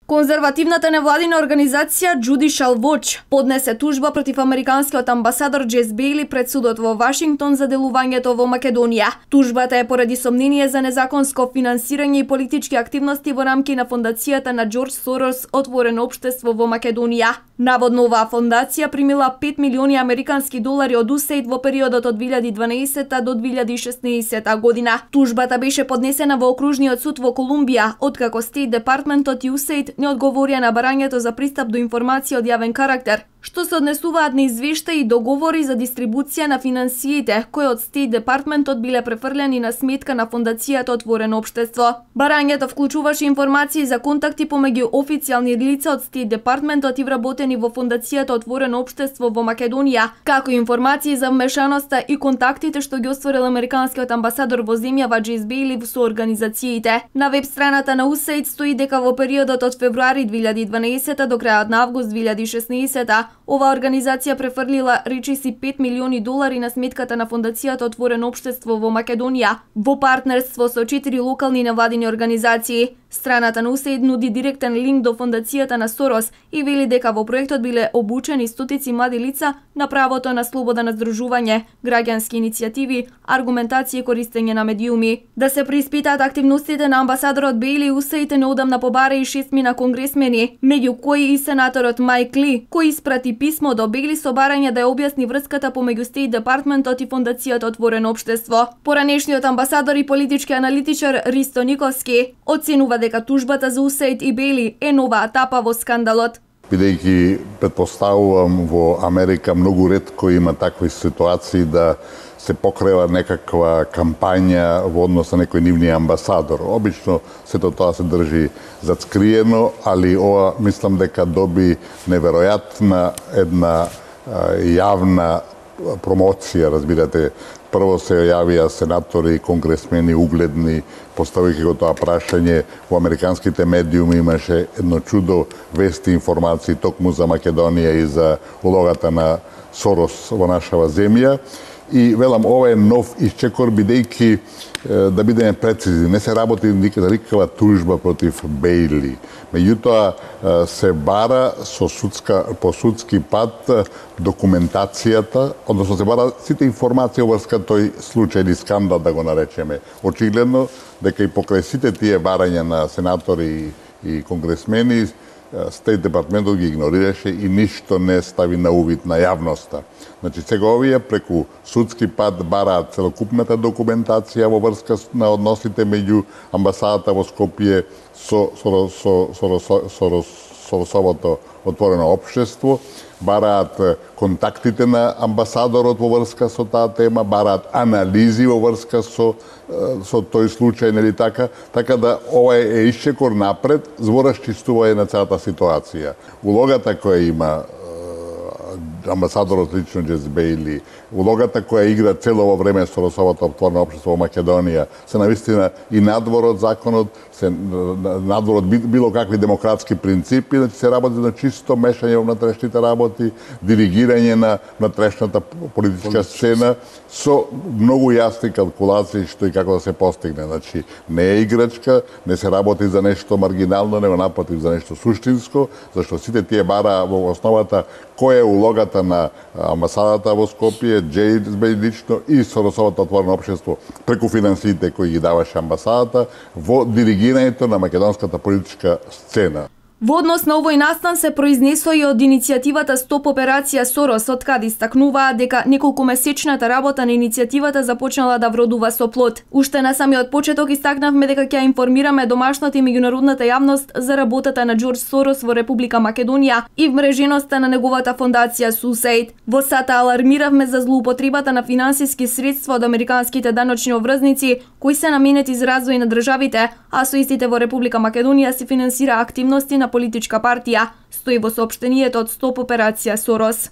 Конзервативната невладина организација Judicial Watch поднесе тужба против американскиот амбасадор Джес Бејли пред судот во Вашингтон за делувањето во Македонија. Тужбата е поради сомнение за незаконско финансирање и политички активности во рамки на фондацијата на Џорџ Сорос Отворено општество во Македонија. Наводно оваа фондација примила 5 милиони американски долари од USAID во периодот од 2012 до 2016 година. Тужбата беше поднесена во окружниот суд во Колумбија, откако Стейт Департментот и USAID не одговорија на барањето за пристап до информација од јавен карактер, што се однесуваат на извештаи и договори за дистрибуција на финансиите, кои од Стейт Департментот биле префрлени на сметка на фондацијата Отворено општество. Барањето вклучуваше информации за контакти помеѓу официјални лица од Стейт Департментот и вработени во фондацијата Отворено општество во Македонија, како и информации за вмешаноста и контактите што ги остварил американскиот амбасадор во земјава Джес Бејли со организациите. На веб страната на USAID стои дека во периодот од февруари 2012 до крајот на август 2016 оваа организација префрлила речиси 5 милиони долари на сметката на фондацијата Отворено општество во Македонија во партнерство со 4 локални невладини организации. Страната на USAID нуди директен линк до фондацијата на Сорос и вели дека во проектот биле обучени стотици млади лица на правото на слобода на здружување, граѓански иницијативи, аргументација и користење на медиуми. Да се преиспитаат активностите на амбасадорот Бејли, USAID неодамна побара и 6 конгресмени, меѓу кои и сенаторот Майк Ли, кој испрати писмо до Бејли со барање да ја објасни врската помеѓу Стейт Департментот и фондацијата Отворено општество. Поранешниот амбасадор и политички аналитичар Ристо Николски оценува дека тужбата за USAID и Бејли е нова етапа во скандалот. Бидејќи претпоставувам во Америка многу ретко има такви ситуации да се покрива некаква кампања во однос на некој нивни амбасадор. Обично сето тоа се држи зацкриено, али ова мислам дека доби неверојатна една јавна промоција, разбирате. Прво се јавија сенатори и конгресмени угледни, поставувајќи го тоа прашање. Во американските медиуми имаше едно чудо вести, информации токму за Македонија и за улогата на Сорос во нашава земја. И велам, ова е нов исчекор, бидејќи, да бидеме прецизни, не се работи никаква тужба против Бејли. Меѓутоа се бара по судски пат документацијата, односно се бара сите информации во врска тој случај или скандал, да го наречеме. Очигледно дека и покрај сите тие барања на сенатори и конгресмени, Стейт Департментот ги игнорираше и ништо не стави на увид на јавноста. Значи, сега овие преку судски пат бараат целокупната документација во врска на односите меѓу амбасадата во Скопје со Соросовото Отворено општество, бараат контактите на амбасадорот во врска со таа тема, бараат анализи во врска со тој случај, нели така? Така да ова е исчекор напред, збор расчистување на целата ситуација. Улогата која има амбасадорот лично Джес Бејли, улогата која игра цело во време Соросовото Отворено општество во Македонија, се навистина и надвор од законот, се надвор од било какви демократски принципи, значи се работи на чисто мешање во внатрешните работи, диригирање на внатрешната политичка сцена со многу јасни калкулации што и како да се постигне. Значи не е играчка, не се работи за нешто маргинално, него напротив за нешто суштинско, зашто сите тие бара во основата која е улогата на амбасадата во Скопје, Джес Бејли лично и Соросовото Отворено општество преку финансиите кои ги даваше амбасадата во диригирањето на македонската политичка сцена. Во однос на овој настан се произнесо и од иницијативата Стоп операција Сорос, од каде истакнуваа дека неколкумесечната работа на иницијативата започнала да вродува со плод. Уште на самиот почеток истакнавме дека ќе информираме домашната и меѓународната јавност за работата на Џорџ Сорос во Република Македонија и вмреженоста на неговата фондација USAID. Во САТ алармиравме за злоупотребата на финансиски средства од американските даночни обврзници кои се наменети за развој на државите, а со истите во Република Македонија се финансира активности на политичка партија, стои во соопштенијето од Стоп операција Сорос.